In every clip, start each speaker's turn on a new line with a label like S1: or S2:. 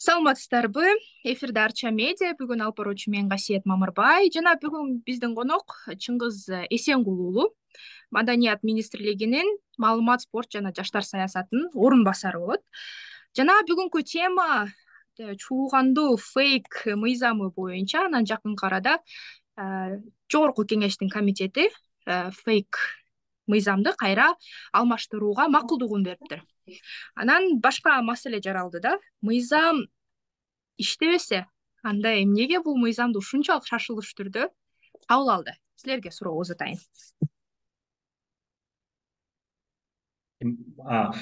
S1: Саламатсыздарбы? Эфирде Арча медиа. Бүгүн алып баруучу мен Касиет Мамырбай жана бүгүн биздин конок Чыңгыз Эсенгул уулу, Маданият министрлигинин маалымат, спорт жана жаштар саясатынын орун басары болот. Жана бүгүнкү тема чуулгандуу фейк мыйзамы боюнча анан жакынкы арада Жогорку кеңештин комитети фейк мыйзамды кайра алмаштырууга макулдугун бериптир. Анан башка маселе жаралды да. Мыйзам иштебесе, анда эмнеге бул мыйзамды ушунчалык шашылыш түрдө кабыл алды? Силерге суроо узатайын.
S2: Да,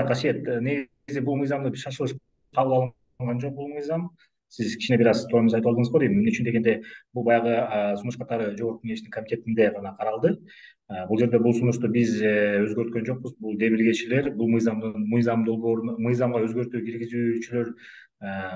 S2: Касиет, негизи бул мыйзамды шашылыш кабыл алынган жок. Бул мыйзам сиз кичине бир аз туурамыз айтып алдыңыз го дейм. Эмне үчүн дегенде, бул баягы сунуш катары Жогорку кеңештин комитетинде гана каралды. Бул жерде бул сунушту биз өзгөрткөн жокпуз. Бул демилгечилер, бул мыйзам долбоорун мыйзамга өзгөртүү киргизүүчүлөр,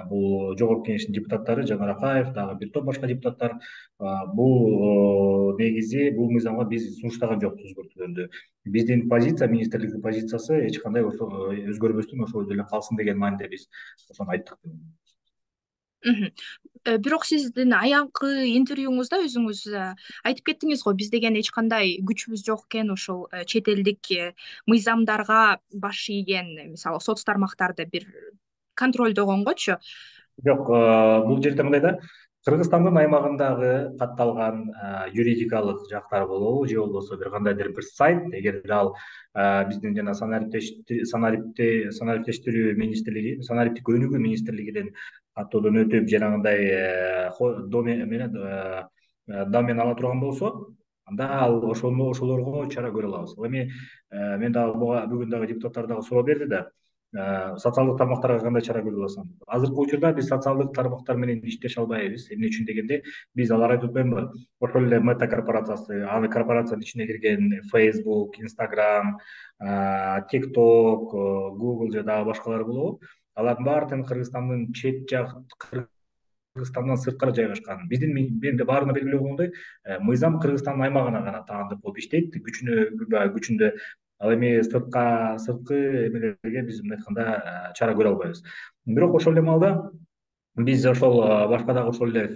S2: бул Жогорку кеңештин депутаттары, Жанар Акаев, дагы бир топ башка депутаттар. Бул негизи бул мыйзамга биз сунуштаган жокпуз өзгөртүүлөрдү. Биздин позиция, министрликтин позициясы эч кандай ошо өзгөрбөстөн ошол эле калсын деген мааниде биз ошону айттык.
S1: Бирок сиздин аянкы интервьюңузда өзүңүз айтып кеттиңиз го, биз деген эч кандай күчүбүз жок экен ушул чет элдик мыйзамдарга баш ийген, мисалы соц тармактарды бир контролдогонгочу.
S2: Жок, бул жерде мындай да, Кыргызстандын аймагындагы катталган юридикалык жактар болобу, же болбосо бир кандайдыр бир сайт, эгерде ал биздин жана санариптештирүү министрлиги, санариптик өнүгүү министрлигинен каттоодон өтүп жанагындай домен ала турган болсо, анда ал ошолорго чара көрө алабыз. Эми мен дагы бүгүн дагы депутаттар дагы суроо берди да, социалдык тармактарга кандай чара көрө аласың? Азыркы учурда биз социалдык тармактар менен иштеше албайбыз. Эмне үчүн дегенде, биз алар айтып атпаймынбы? Ошол эле Мета корпорациясы, аны корпорациянын ичине кирген Facebook, Instagram, TikTok, Google же дагы башкалар болобу? Алардын баардыгын Кыргызстандын Кыргызстандан сырткары жайгашкан. Менде баарына белгилүү болгондой, мыйзам Кыргызстандын аймагына гана таандык болуп иштейт, күчүндө. Ал эми сырткы эмелерге биз мындай айтканда чара көрө албайбыз. Бирок ошол эле маалда биз ошол башка дагы ошол эле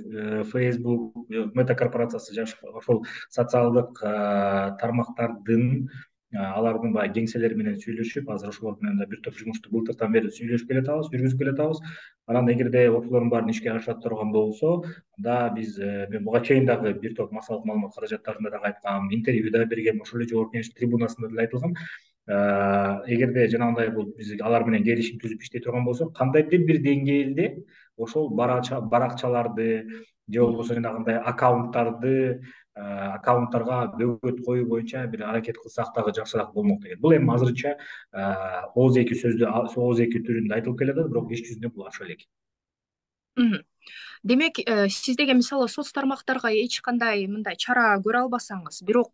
S2: Facebook, Мета корпорациясы ошол социалдык тармактардын алардын баягы кеңселери менен сүйлөшүп, азыр ошолор менен да бир топ жумушту былтыртан бери сүйлөшүп келатабыз, жүргүзүп келатабыз. Анан эгерде ошолордун баарын ишке ашыра турган болсо, анда биз мен буга чейин дагы бир топ массалык маалымат каражаттарында дагы айткам, интервью да бергем, ошол эле Жогорку кеңеш трибунасында деле айтылган. Эгерде жанагындай бул биз алар менен келишим түзүп иштей турган болсок, кандайдыр бир деңгээлде ошол баракчаларды же болбосо жанагындай аккаунттарга бөгөт коюу боюнча бир аракет кылсак дагы жакшыраак болмок деген. Бул эми азырынча ооз-эки түрүндө айтылып келатат, бирок иш жүзүндө бул ошол элек.
S1: Демек, сиз деген мисалы соц тармактарга эч кандай мындай чара көрө албасаңыз, бирок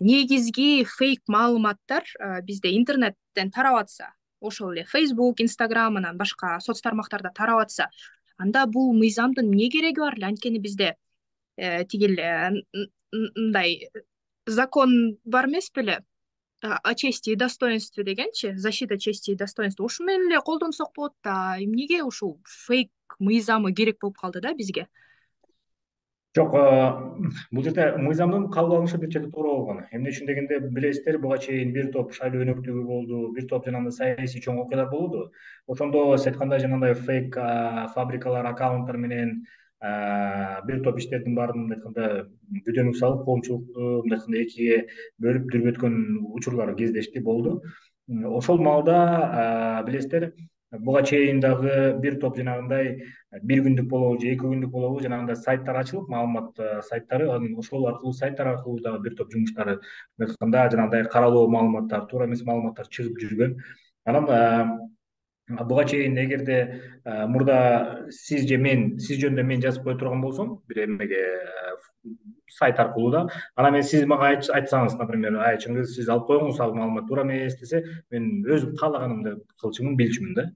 S1: негизги фейк маалыматтар бизде интернеттен тарап атса, ошол эле Facebook, Instagram анан башка соц тармактарда тарап атса, анда бул мыйзамдын эмне кереги бар эле? Анткени бизде тигил мындай закон бар эмес беле? О чести и достоинстве дегенчи, защита чести и достоинства. Ушул менен эле колдонсок болот да. Эмнеге ушул фейк мыйзамы керек болуп калды да бизге?
S2: Жок, бул жерде мыйзамдын кабыл алынышы бир чети туура болгон. Эмне үчүн дегенде, билесиздер, буга чейин бир топ шайлоо өнөктүгү болду, бир топ жанагындай саясий чоң окуялар болду. Ошондо сиз айткандай жанагындай фейк фабрикалар, аккаунттар менен бир топ иштердин баарын мындай айтканда бүдөнүк салып, коомчулукту мындай айтканда экиге бөлүп дүрбөткөн учурлар кездешти, болду. Ошол маалда билесиздер, буга чейин дагы бир топ жанагындай бир күндүк болобу же 2 күндүк болобу жанагындай сайттар ачылып, маалымат сайттары, анан ошол аркылуу сайттар аркылуу дагы бир топ жумуштары айтканда жанагындай каралоо маалыматтар, туура эмес маалыматтар чыгып жүргөн. Анан буга чейин эгерде мурда сиз жөнүндө мен жазып кое турган болсом бир эмеге, сайт аркылуу да, анан мен сиз мага айтсаңыз, например, Чыңгыз, сиз алып коюңуз, ал маалымат туура эмес десе, мен өзүм каалаганымды кылчумун, билчүмүн да.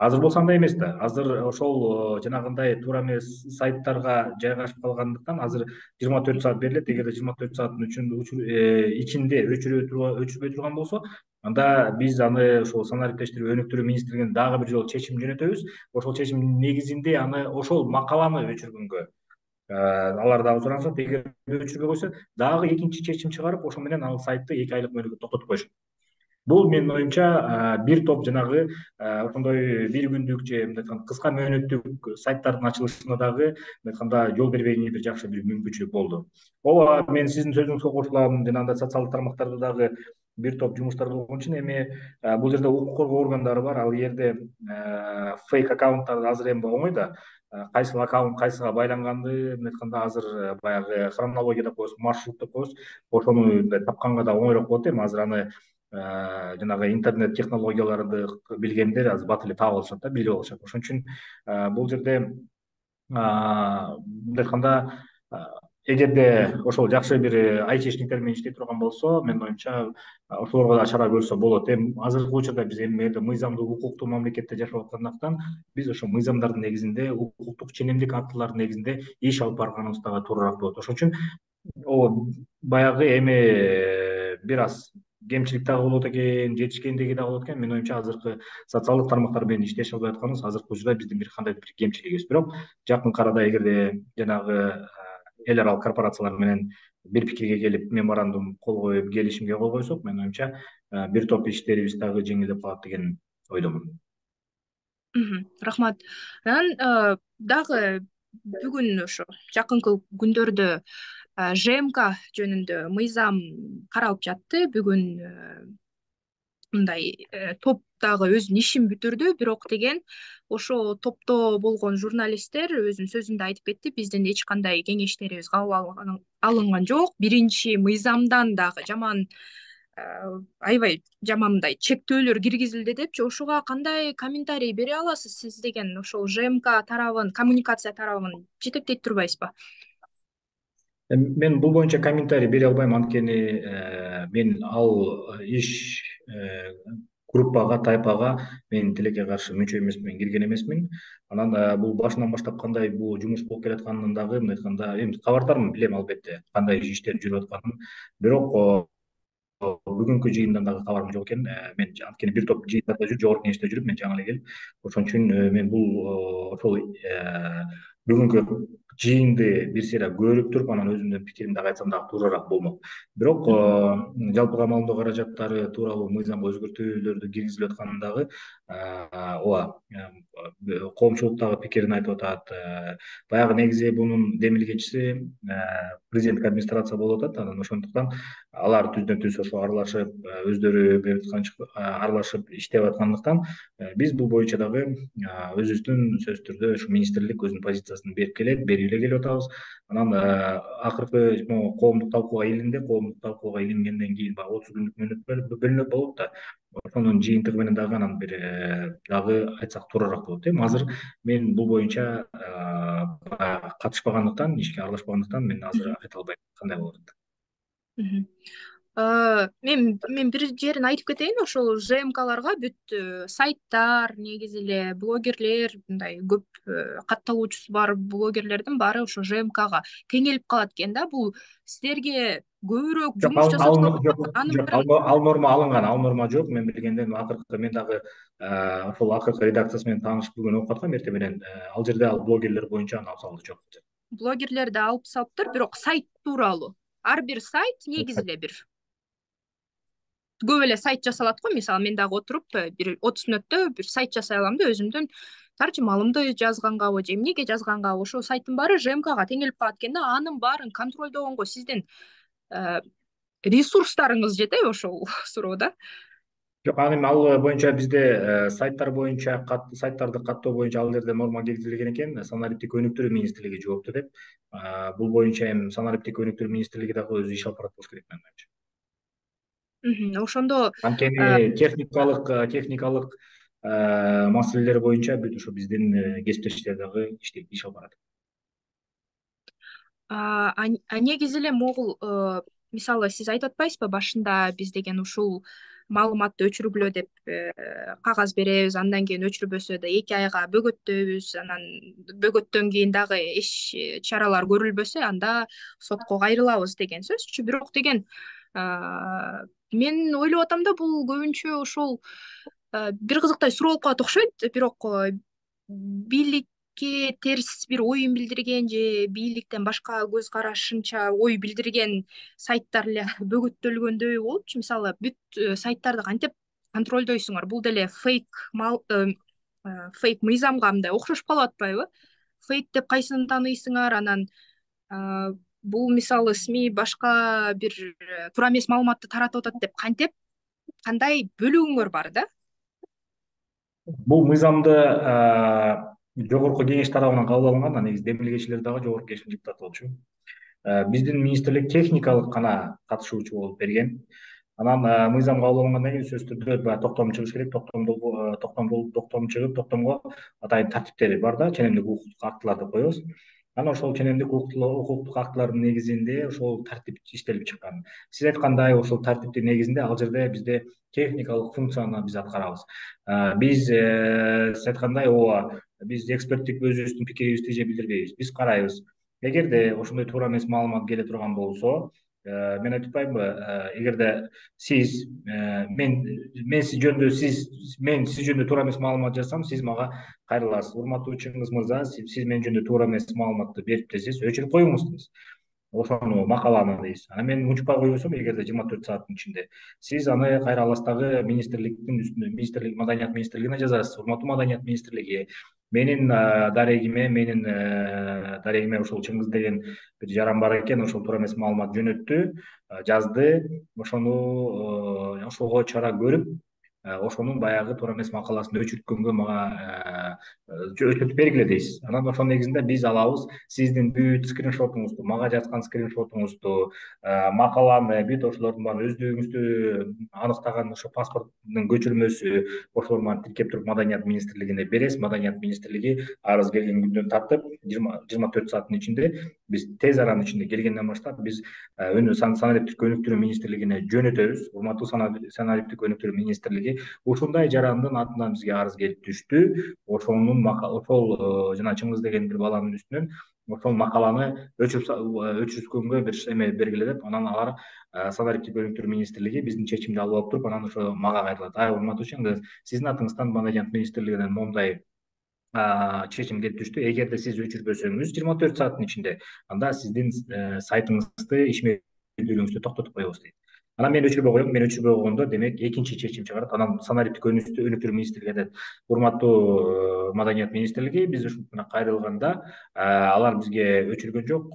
S2: Азыр болсо андай эмес да. Азыр ошол жанагындай туура эмес сайттарга жайгашып калгандыктан азыр 24 саат берилет. Эгерде 24 сааттын ичинде өчүрбөй турган болсо, Анда биз аны ошол санариптештирип өнүктүрүү министрлигине дагы бир жолу чечим жөнөтөбүз. Ошол чечимдин негизинде аны ошол макаланы өчүргөнгө алар дагы суранышат. Эгер өчүрбөй койсо, дагы экинчи чечим чыгарып, ошо менен ал сайтты 2 айлык мөөнөткө токтотуп коюшат. Бул менин оюмча бир топ жанагы ошондой бир күндүк же мындай айтканда кыска мөөнөттүк сайттардын ачылышына дагы мындай айтканда жол бербегенге бир жакшы бир мүмкүнчүлүк болду. Ооба, мен сиздин сөзүңүзгө кошулам. Жанагындай социалдык тармактарда дагы бир топ жумуштар болгон үчүн эми бул жерде укук коргоо органдары бар. Ал жерде фейк аккаунттар азыр эми оңой да. Кайсыл аккаунт кайсыга байланганды мындай айтканда азыр баягы хронология деп коебуз, маршрут деп коебуз. Ошону мындай тапканга да оңойрок болот эми. Азыр аны жанагы интернет технологияларды билгендер азыр бат эле таап алышат да, билип алышат. Ошон үчүн бул жерде мындай айтканда эгерде ошол жакшы бир айтишниктер менен иштей турган болсо, менин оюмча ошолорго да чара көрсө болот. Эми азыркы учурда биз эми жерде мыйзамдуу укуктуу мамлекетте жашап аткандыктан биз ошо мыйзамдардын негизинде, укуктук ченемдик актылардын негизинде иш алып барганыбыз дагы туурураак болот. Ошон үчүн баягы эми бир аз кемчилик дагы болот экен, жетишкендиги дагы болот экен. Менин оюмча азыркы социалдык тармактар менен иштешип албай атканыбыз азыркы учурда биздин бир кандайдыр бир кемчилигибиз. Бирок жакынкы арада эгерде жанагы эл аралык корпорациялар менен бир пикирге келип, меморандум кол коюп, келишимге кол койсок, менин оюмча бир топ иштерибиз дагы жеңилдеп калат деген ойдомун.
S1: Рахмат. Анан дагы бүгүн ошо жакынкы күндөрдө ЖМК жөнүндө мыйзам каралып жатты. Бүгүн мындай топ дагы өзүнүн ишин бүтүрдү. Бирок деген ошо топто болгон журналисттер өзүнүн сөзүндө айтып кетти, биздин эч кандай кеңештерибиз кабыл алынган жок. Биринчи мыйзамдан дагы жаман аябай жаман мындай чектөөлөр киргизилди депчи. Ошого кандай комментарий бере аласыз? Сиз деген ошол ЖМК тарабын, коммуникация тарабын жетектей турбайсызбы?
S2: Мен бул боюнча комментарий бере албайм, анткени мен ал иш группага, тайпага мен тилекке каршы мүчө эмесмин, кирген эмесмин. Анан бул башынан баштап кандай бул жумуш болуп келатканын дагы мындай айтканда эми кабардармын, билем албетте кандай иштер жүрүп атканын. Бирок бүгүнкү жыйындан дагы кабарым жок экен. Мен анткени бир топ жыйындарда жүрүп, жогорку кеңеште жүрүп, мен жаңы эле келип, ошон үчүн мен бул ошол бүгүнкү жыйынды бир сыйра көрүп туруп, анан өзүмдүн пикиримди дагы айтсам дагы туурараак болмок. Бирок жалпыга маалымдоо каражаттары тууралуу мыйзамга өзгөртүүлөрдү киргизилип атканын дагы ооба, коомчулук дагы пикирин айтып атат. Баягы негизи мунун демилгечиси президенттик администрация болуп атат. Анан ошондуктан алар түздөн түз ошо аралашып, өздөрү аралашып иштеп аткандыктан биз бул боюнча дагы өзүбүздүн сөзсүз түрдө ушу министрлик өзүнүн позициясын берип келет, берип эле келип атабыз. Анан акыркы коомдук талкууга илингенден кийин баягы 30 күндүк мөөнөт бөлүнөт болот да. Ошонун жыйынтыгы менен дагы анан бир дагы айтсак туурараак болот. Эми азыр мен бул боюнча катышпагандыктан, ишке аралашпагандыктан мен азыр айта албайм кандай болот.
S1: Мен бир жерин айтып кетейин. Ошол ЖМКларга бүт сайттар, негизи эле блогерлер, мындай көп катталуучусу бар блогерлердин баары ошо ЖМКга кеңелип калат экен да. Бул силерге көбүрөөк жумуш жасатып
S2: ал норма алынган, ал норма жок. Мен билгенден акыркы мен дагы ошол акыркы редакциясы менен таанышып бүгүн окуп аткам эртең менен. Ал жерде ал блогерлер боюнча алып салуу жок.
S1: Блогерлерди алып салыптыр, бирок сайт тууралуу. Ар бир сайт негизи эле бир көп эле сайт жасалат го. Мисалы мен дагы отуруп бир 30 мүнөттө бир сайт жасай алам да, өзүмдүн таржымалымды жазгангабы же эмнеге жазгангабы. Ошол сайттын баары ЖМКга теңелип калат экен да. Анын баарын контролдогонго сиздин ресурстарыңыз жетеби ошол суроода?
S2: Жок, эми ал боюнча бизде сайттар боюнча сайттарды каттоо боюнча ал жерде норма киргизилген экен. Санариптик өнүктүрүү министрлиги жоопту деп. Бул боюнча эми санариптик өнүктүрүү министрлиги дагы өзү иш алып барат болуш керек менин оюмча.
S1: Ошондо
S2: анткени техникалык маселелер боюнча бүт ошо биздин кесиптештер дагы иштейт, иш алып барат.
S1: Негизи эле могул мисалы сиз айтып атпайсызбы башында биз деген ушул маалыматты өчүргүлө деп кагаз беребиз, андан кийин өчүрбөсө да 2 айга бөгөттөйбүз, анан бөгөттөн кийин дагы эч чаралар көрүлбөсө анда сотко кайрылабыз деген сөзчү. Бирок деген мен ойлоп атам да, бул көбүнчө ошол бир кызыктай суроо болуп калат окшойт. Бирок бийликке терс бир оюн билдирген же бийликтен башка көз карашынча ой билдирген сайттар эле бөгөттөлгөндөй болупчу. Мисалы бүт сайттарды кантип контролдойсуңар? Бул деле фейк мыйзамга мындай окшошуп калып атпайбы? Фейк деп кайсыны тааныйсыңар? Анан бул мисалы СМИ башка бир туура эмес маалыматты таратып атат деп кандай бөлүгүңөр бар да?
S2: Бул мыйзамды жогорку кеңеш тарабынан кабыл алынган, негизи демилгечилер дагы жогорку кеңештин депутаты болчу. Биздин министрлик техникалык гана катышуучу болуп берген. Анан мыйзам кабыл алынгандан кийин сөзсүз түрдө баягы токтом чыгыш керек. Токтом чыгып, токтомго атайын тартиптери бар да, ченемдик укуктук актылар деп коебуз. Анан ошол ченемдик укуктук актылардын негизинде ошол тартип иштелип чыккан. Сиз айткандай, ошол тартиптин негизинде ал жерде бизде техникалык функцияны биз аткарабыз. Биз сиз айткандай, ооба, биз эксперттик өзүбүздүн пикирибизди же билдирбейбиз. Биз карайбыз. Эгерде ошондой туура эмес маалымат келе турган болсо, мен айтып атпаймынбы, эгерде сиз мен сиз жөнүндө туура эмес маалымат жазсам, сиз мага кайрыласыз: урматтуу Чыңгыз мырза, сиз мен жөнүндө туура эмес маалыматты бериптирсиз, өчүрүп коюңуз дейсиз ошону, макаланы дейсиз. Анан мен унчукпай койбосом, эгерде 24 сааттын ичинде, сиз аны кайра алыстагы министрликтин үстүнө, маданият министрлигине жазасыз: урматтуу маданият министрлиги, менин дарегиме ушул Чыңгыз деген бир жаран бар экен, ошол туура эмес маалымат жөнөттү, жазды, ошого чара көрүп, ошонун баягы туура эмес макаласын өчүрткөнгө мага өчүртүп бергиле дейсиз. Анан ошонун негизинде биз алабыз сиздин бүт скриншотуңузду, мага жазган скриншотуңузду, макаланы, бүт ошолордун баарын өздүгүңүздү аныктаган ошо паспорттун көчүрмөсү, ошолордун баарын тиркеп туруп маданият министрлигине бересиз. Маданият министрлиги арыз келген күндөн тартып 24 сааттын ичинде, биз тез аранын ичинде келгенден баштап, биз санариптик өнүктүрүү министрлигине жөнөтөбүз. Урматтуу санариптик өнүктүрүү министрлиги, ушундай жарандын атынан бизге арыз келип түштү. Ошол жана Чыңгыз деген бир баланын үстүнөн ошол макаланы өчүрүскөнгө бир эме бергиле деп, анан алар санариптик өнүктүрүү министрлиги биздин чечимди алып алып туруп, анан ошо мага кайрылат: урматтуу Чыңгыз, сиздин атыңыздан маданият министрлигинен моундай чечим келип түштү. Эгерде сиз өчүрбөсөңүз 24 сааттын ичинде, анда сиздин сайтыңызды, ишмердүүлүгүңүздү токтотуп коебуз дейт. Анан мен өчүрбөй коем. Мен өчүрбөй койгондо, демек экинчи чечим чыгарат. Анан санариптик өнүктүрүү министрлиги айтат: урматтуу маданият министрлиги, биз ушунтип кайрылганда алар бизге өчүргөн жок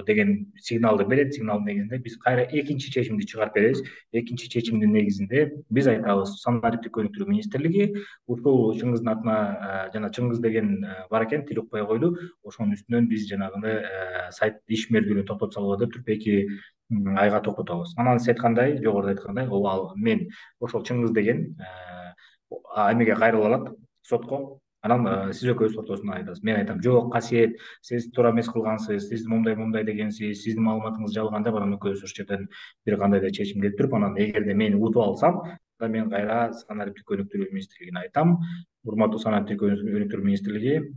S2: деген сигналды берет. Сигналдын негизинде биз кайра экинчи чечимди чыгарып беребиз. Экинчи чечимдин негизинде биз айтабыз: санариптик өнүктүрүү министрлиги ушул Чыңгыздын атына жана Чыңгыз деген бар экен, тил укпай койду, ошонун үстүнөн биз жанагындай сайт ишмердүүлүгүн токтотуп салгыла деп туруп 2 айга токтотобуз. Анан сиз айткандай, жогоруда айткандай, мен ошол Чыңгыз деген эмеге кайрыла алат, сотко. Анан сиз экөөбүз ортосунда айтабыз. Мен айтам: жок, Касиет, сиз туура эмес кылгансыз, сиз момундай дегенсиз, сиздин маалыматыңыз жалган деп, анан экөөбүз ошол жерден бир кандай да чечим келип туруп, анан эгерде мени утуп алсам, мен кайра санариптик өнүктүрүү министрлигине айтам: урматтуу санариптик өнүктүрүү министрлиги,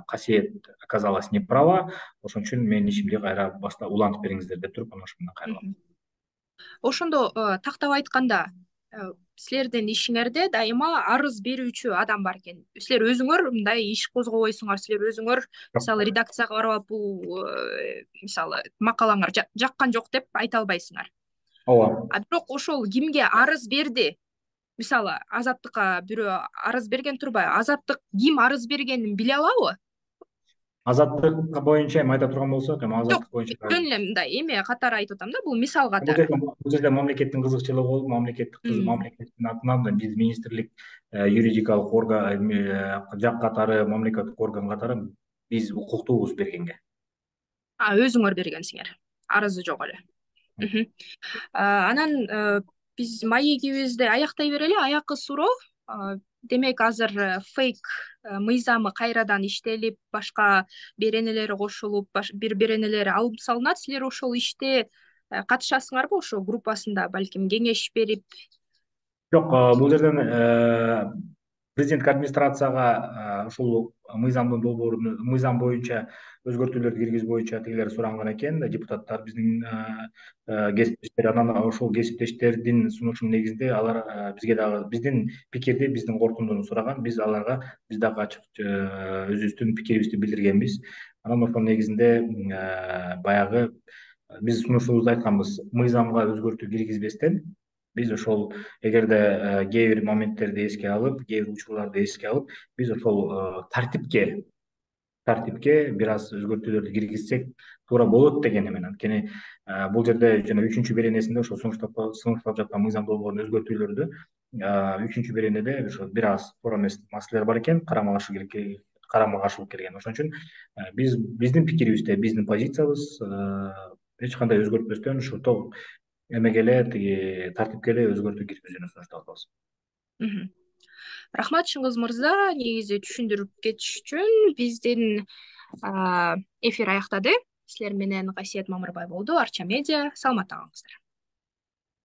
S2: Касиет оказалась неправа, ошон үчүн менин ишимди кайра улантып бериңиздер деп туруп, анан ошо менен кайрылам.
S1: Ошондо тактап айтканда, силердин ишиңерде дайыма арыз берүүчү адам бар экен. Силер өзүңөр мындай иш козгобойсуңар, силер өзүңөр мисалы редакцияга барып, бул мисалы макалаңар жаккан жок деп айта албайсыңар.
S2: Ооба.
S1: Бирок ошол кимге арыз берди? Мисалы Азаттыкка бирөө арыз берген турбайбы? Азаттык ким арыз бергенин биле алабы?
S2: Азаттык боюнча эми айта турган болсок, эми азаттык боюнча
S1: жөн эле мындай эме катары айтып атам да, бул мисал
S2: бул
S1: катары.
S2: жерде мамлекеттин кызыкчылыгы болуп, мамлекеттин атынан биз министрлик, юридикалык орган, жак катары, мамлекеттик орган катары биз укуктуубуз бергенге.
S1: Өзүңөр бергенсиңер, арызы жок эле. Анан биз маегибизди аяктай берели. Аяккы суроо: демек азыр фейк мыйзамы кайрадан иштелип, башка беренелери кошулуп, бир беренелери алып салынат. Силер ошол иште катышасыңарбы? Ошо группасында балким кеңеш берип?
S2: Жок, бул жерден президенттик администрацияга ушул мыйзам боюнча өзгөртүүлөрдү киргизүү боюнча тигилер суранган экен, депутаттар, биздин кесиптештер. Анан ошол кесиптештердин сунушунун негизинде алар бизге дагы биздин пикирди, биздин корутундуну сураган. Биз аларга биз дагы ачык өзүбүздүн пикирибизди билдиргенбиз. Анан ошонун негизинде баягы биз сунушубузду айтканбыз: мыйзамга өзгөртүү киргизбестен биз ошол, эгерде кээ бир моменттерди эске алып, кээ бир учурларды эске алып, биз ошол тартипке бир аз өзгөртүүлөрдү киргизсек туура болот деген эмен. Анткени бул жерде жана 3-беренесинде ошо сунушталып жаткан мыйзам долбоорунун өзгөртүүлөрдү 3-беренеде ошо бир аз туура эмес маселелер бар экен, карама каршылык келген. Ошон үчүн биздин пикирибизде, биздин позициябыз эч кандай өзгөртпөстөн ушу эмеге эле, тиги тартипке эле өзгөртүү киргизүүнү сунуштап атабыз.
S1: Рахмат Чыңгыз мырза, негизи түшүндүрүп кетиш үчүн. Биздин эфир аяктады. Силер менен Касиет Мамырбай болду, Арча медиа. Саламатта калыңыздар.